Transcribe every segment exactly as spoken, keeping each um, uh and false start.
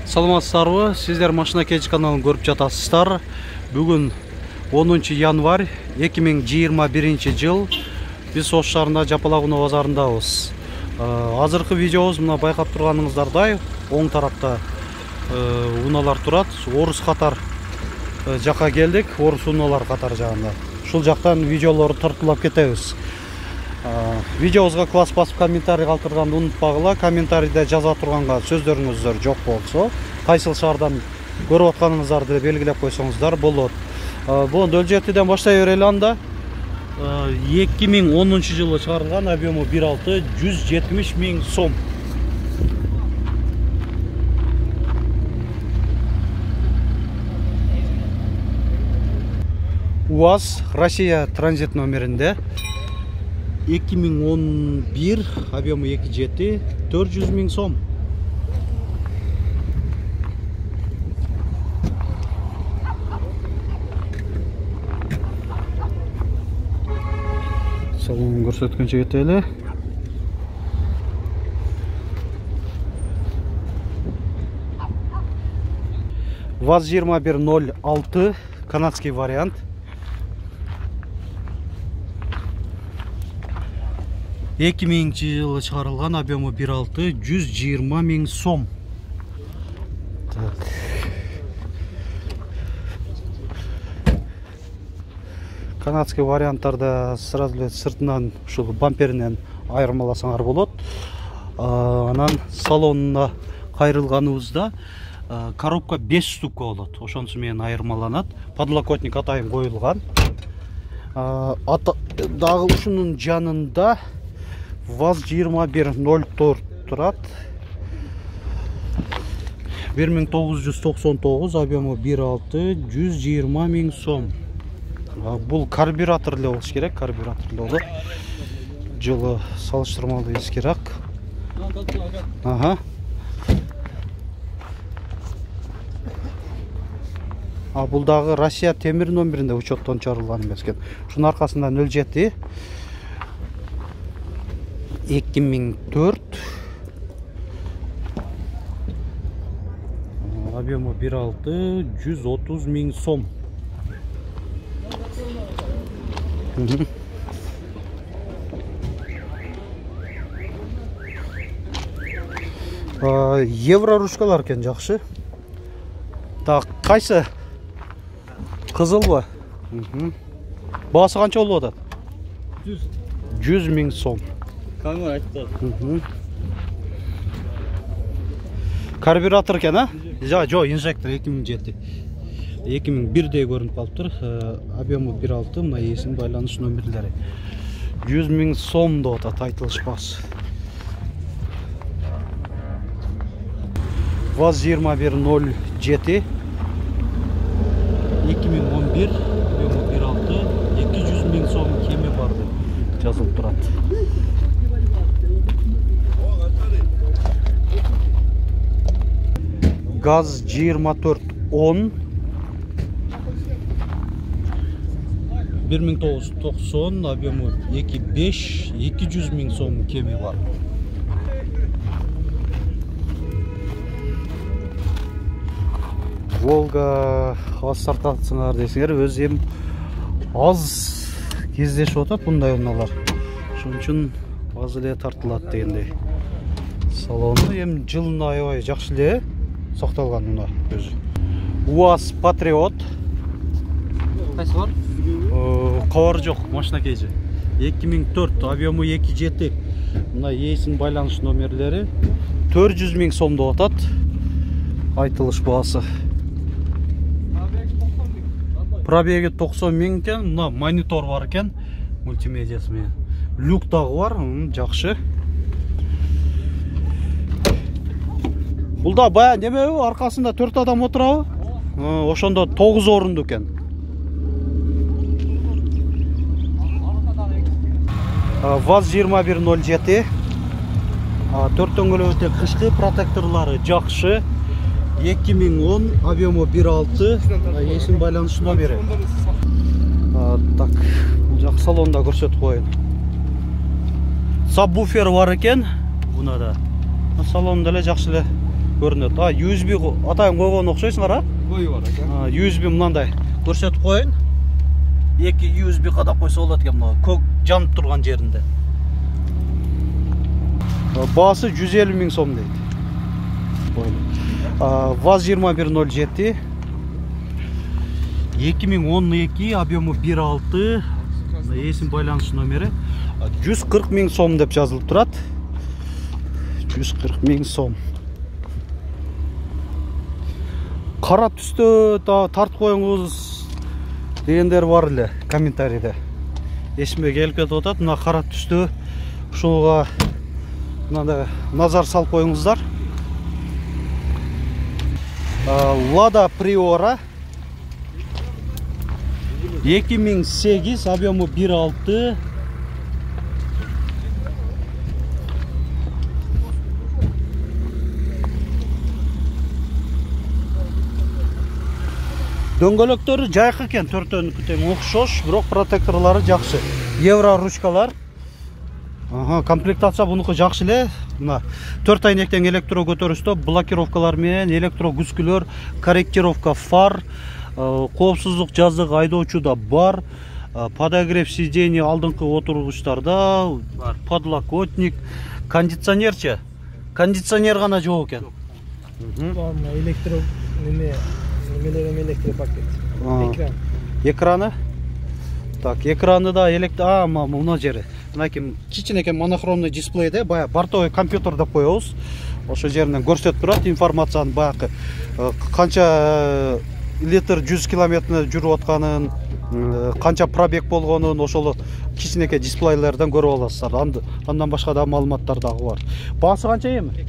Саламатсыздарбы? Сиздер Машина Кеч каналын көрүп жатасыздар. Бүгүн онунчу январь эки миң жыйырма биринчи жыл. Биз Ош шаарында Жапалак унаа базарындабыз. Азыркы видеобуз мына байкап турганыңыздардай оң тарапта унаалар турат. Орус катар жака келдик, орус унаалар катар жагында. Ушул жактан видеолорду тартуулап кетебиз. Видеобузга класс басып комментарий калтырганды унутпагыла. Комментарийде жаза турганга сөздөрүңүздөр жок болсо, кайсыл шаардан көрүп атканыңыздарды белгилеп койсоңуздар болот. Бул нөл жетиден баштай берели анда. эки миң онунчу жылы чыгарылган, объему бир алты, жүз жетимиш миң сом. УАЗ Россия транзит номеринде эки миң он бир, объему эки жети, төрт жүз миң сом. Салонун көрсөткөнчө кетели. ВАЗ жыйырма бир ноль алты, канадский вариант. эки миңинчи жылы чыгарылган, объему бир алты, жүз жыйырма миң сом. Канадский варианттарда сразу эле сыртынан ушул бамперинен айырмаласаңар болот. Анан салонуна кайрылганыбызда коробка беш штука болот. Ошонусу менен айырмаланат. Подлокотник атайын коюлган. Дагы ушунун жанында ВАЗ жыйырма бир ноль төрт турат. бир миң тогуз жүз токсон тогуз, объему бир алты, жүз жыйырма миң сом. Бул карбюратор эле болуш керек, карбюратор эле болот. Жылы салыштырмалуу эскирак. Ага. А бул дагы Россия темир номеринде учеттон чыгарылган эмес экен. Ушунун аркасында нөл жети эки миң төрт, объему бир алты, жүз отуз миң сом. Евро ручкалар экен, жакшы. Так, кайсы? Кызылбы? Баасы канча болуп атат? жүз миң сом. Камера айтты. Карбюратор экен, а? Жа, жо, инжектор эки миң жети. эки миң бирдей көрүнүп калыптыр. Объему бир алты, мына эсин байланыш номерлери. жүз миң сом деп атат, айтылышпас. ВАЗ жыйырма бир ноль жети эки миң он бир, объему бир алты, эки жүз миң сом кеми бар деп жазылып турат. ГАЗ жыйырма төрт он бир миң тогуз жүз токсон, объему эки беш, эки жүз миң сом кеми бар. Волга аз тартатсыңар десеңер, өз эм аз кездешип атат мындай унаалар. Ошон үчүн аз эле тартылат дегендей. Салону эм жылына аябай жакшы эле сакталган унаа өзү. УАЗ Патриот. Кайсы бар? Кабары жок, Машина Кеч. эки миң төрт, объему эки жети. Мына эсин байланыш номерлери төрт жүз миң сом деп атат. Айтылыш баасы. Пробеги токсон миң экен. Мына монитор бар экен, мультимедиясы менен. Люк дагы бар, жакшы. Бул да бая немеби, аркасында төрт адам отурабы? Ошондо тогуз орунду экен. ВАЗ жыйырма бир ноль жети. Төрт дөңгөлөк өтө кышкы, протекторлары жакшы. эки миң он, объему бир алты, эсин байланыш номери. Так, бул жак салонда көрсөтүп коеюн. Сабвуфер бар экен, бунада. Салонда эле жакшы эле көрүнөт. А ю эс би атайын койгон окшойсуңар, а? Коюп бар экен. ю эс би мынандай көрсөтүп коеюн. эки ю эс би кадап койсо болот экен мына көк жанып турган жеринде. Баасы жүз элүү миң сом дейт. ВАЗ жыйырма бир ноль жети эки миң он эки, объему бир алты, эсин байланыш номери жүз кырк миң сом деп жазылып турат. жүз кырк миң сом. Кара түстө тартып коюңуз дегендер бар эле комментарийде. Эсиме келип кетип атат. Мына кара түстө ушуга мындай назар салып коюңуздар. Lada Priora эки миң сегиз, объему бир алты. Дөңгөлөктөрү жайкы экен, төртөөнүкү тең окшош, бирок протекторлору жакшы. Евро ручкалар. Ага, комплектация бунуку жакшы эле. Мына төрт айнектен электро көтөрүштө, блокировкалар менен электро күзгүлөр, корректировка фар, коопсуздук жаздыгы айдоочуда бар, подогрев сидений алдыңкы отургучтарда бар, подлокотник, кондиционерчи. Кондиционер гана жок экен. Мына электро неме, немелер электропакет. Экран. Экраны? Так, экраны да электро, а, мына жери. Мынакей кичинекей монохромный дисплейде бая бортовой компьютер деп коебуз. Ошо жеринен көрсөтүп турат информацияны, баягы канча литр жүз километрде жүрүп атканын, канча пробег болгонун ошол кичинекей дисплейлерден көрүп аласыздар. Андан башка да маалыматтар дагы бар. Баасы канча эми?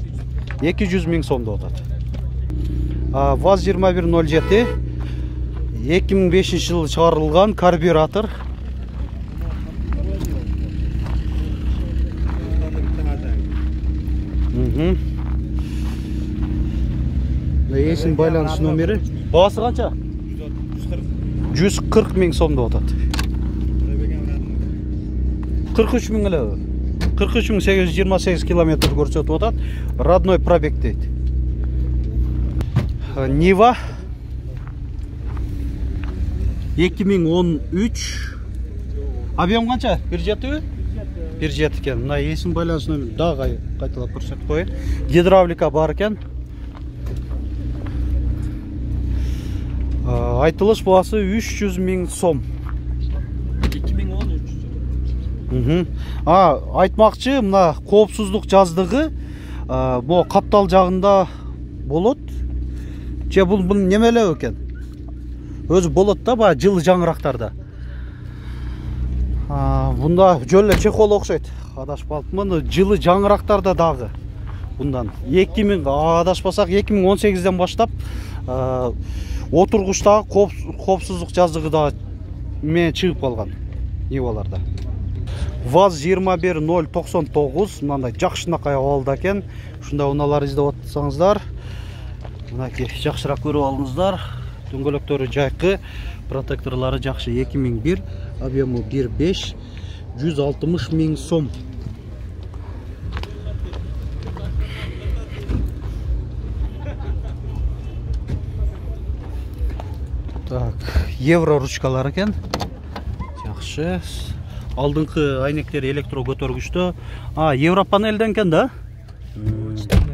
эки жүз миң сом деп атат. ВАЗ жыйырма бир ноль жети эки миң бешинчи жылы чыгарылган карбюратор. Эсин байланыш номери. Баасы канча? жүз кырк миң сом деп атат. кырк үч миң эле. кырк үч миң сегиз жүз жыйырма сегиз километр көрсөтүп атат. Родной пробег дейт. Нива эки миң он үч. Объем канча? бир жетиби? бир жети экен. Мына эсин байланыш номери дагы кайталап көрсөтүп коеюн. Гидравлика бар экен. Айтылыш баасы үч жүз миң сом. эки миң он үч. А, айтмакчы, мына коопсуздук жаздыгы бу каптал жагында болот. Же бул бул немелеп экен? Өзү болот да, баягы жылы жаңырактарда. Бунда жөн эле чехол окшойт. Адашпапмын, жылы жаңырактарда дагы. Bundan эки миң адашпасак эки миң он сегизден баштап отургучтагы коопсуздук жаздыгы да менен чыгып калган Ниваларда. ВАЗ жыйырма бир ноль токсон тогуз мындай жакшынакай абалда экен. Ушундай унаалар издеп атсаңыздар, мынакей жакшыраак көрүп алыңыздар. Дөңгөлөктөрү жайкы, протекторлору жакшы. эки миң бир, объему бир беш, жүз алтымыш миң сом. Так, евро ручкалар экен. Жакшы. Алдыңкы айнектер электро көтөргүчтө. А, евро панелден экен да?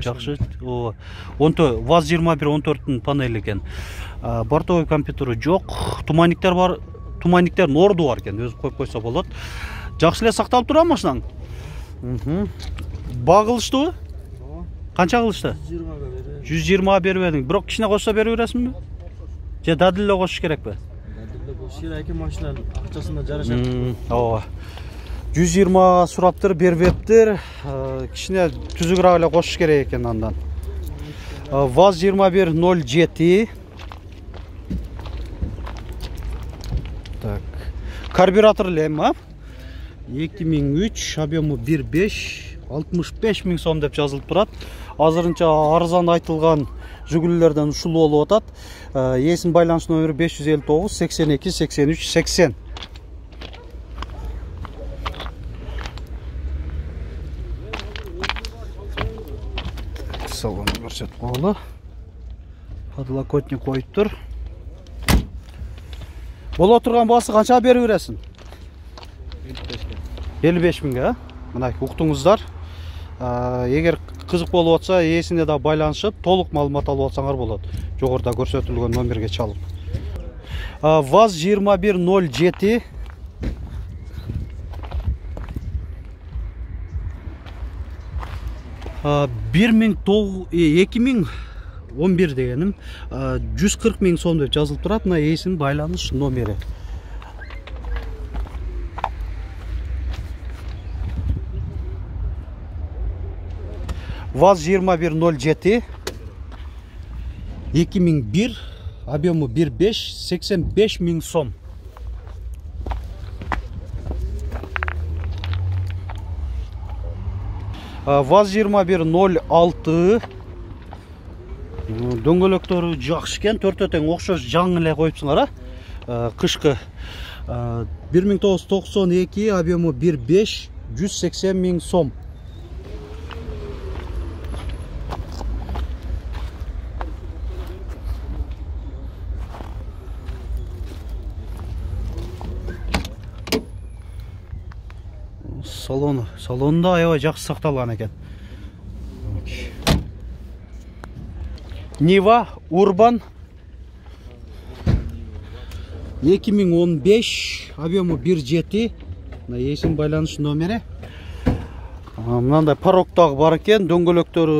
Жакшы. О, ВАЗ жыйырма бир он төрттүн панели экен. Бортовой компьютери жок. Туманниктер бар. Туманниктердин орду бар экен. Өзү коюп койсо болот. Жакшы эле сакталып турабы машинаң? Багылыштыбы? Канча кылышты? жүз жыйырма берип едиң. Бирок кичине кошсо бере бересиңби? Же дадил эле кошуш керекпи? Дадил эле кошуш керек, эки машинаның акчасында жарашат. Ооба. жүз жыйырма сураптыр, бербептир. Кичине түзүгүрөөк эле кошуш керек экен андан. ВАЗ жыйырма бир ноль жети. Так. Карбюратор эле эми, эки миң үч, объему бир беш, алтымыш беш миң сом деп жазылып турат. Азырынча арзан айтылган жүгүлүлөрдөн ушул болуп атат. Эсин байланыш номери беш жүз элүү тогуз сексен эки сексен үч сексен. Салон көрсөтүп койгула. Подлокотник коюптур. Боло турган баасы канчага берип бересиң? элүү беш миңге, мына уктуңуздар. Эгер кызык болуп атса, ээсине да байланышып, толук маалымат алып алсаңар болот. Жогоруда көрсөтүлгөн номерге чалып. ВАЗ жыйырма бир ноль жети эки миң он бир дегеним жүз кырк миң сом деп жазылып турат. Мына ээсинин байланыш номери. ВАЗ жыйырма бир ноль жети эки миң бир, объему бир беш, сексен беш миң сом. ВАЗ жыйырма бир ноль алты дөңгөлөктөрү жакшы экен, төртөө тең окшош жаңы эле коюпсуңар, а? Кышкы бир миң тогуз жүз токсон эки, объему бир беш, жүз сексен миң сом. Салону, салонда аябай жакшы сакталган экен. Нива Урбан эки миң он беш, объему бир жети, ээсинин байланыш номери. Мынандай пароктагы бар экен, дөңгөлөктөрү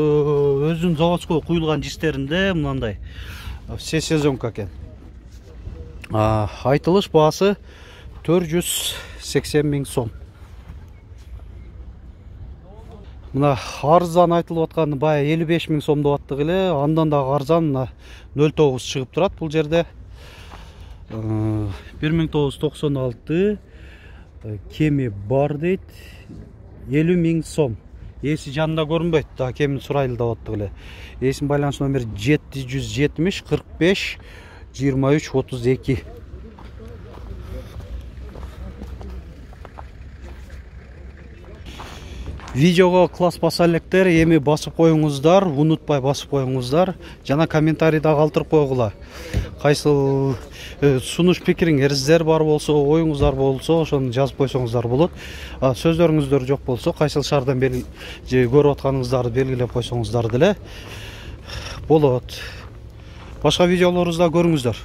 өзүнүн заводской куюлган жистеринде, мынандай все сезонка экен. Айтылыш баасы төрт жүз сексен миң сом. Мына арзан айтылып атканы бая элүү беш миң сом деп аттык эле, андан дагы арзан нөл тогуз чыгып турат бул жерде. бир миң тогуз жүз токсон алты кеми бар дейт, элүү миң сом. Ээси жанында көрүнбөйт, да кемин сурайлы деп аттык эле. Ээсинин байланыш номери жети жүз жетимиш кырк беш жыйырма үч отуз эки. Видеого класс баса электер, эми басып коюңуздар, унутпай басып коюңуздар, жана комментарийда калтырып койгула. Кайсыл сунуш пикириңиздер бар болсо, оюңуздар болсо, ошону жазып койсоңуздар болот. Сөздөрүңүздөр жок болсо, кайсыл шаардан бери көрүп атканыңыздарды белгилеп койсоңуздар деле болот. Башка видеолорубузда көрүңүздөр.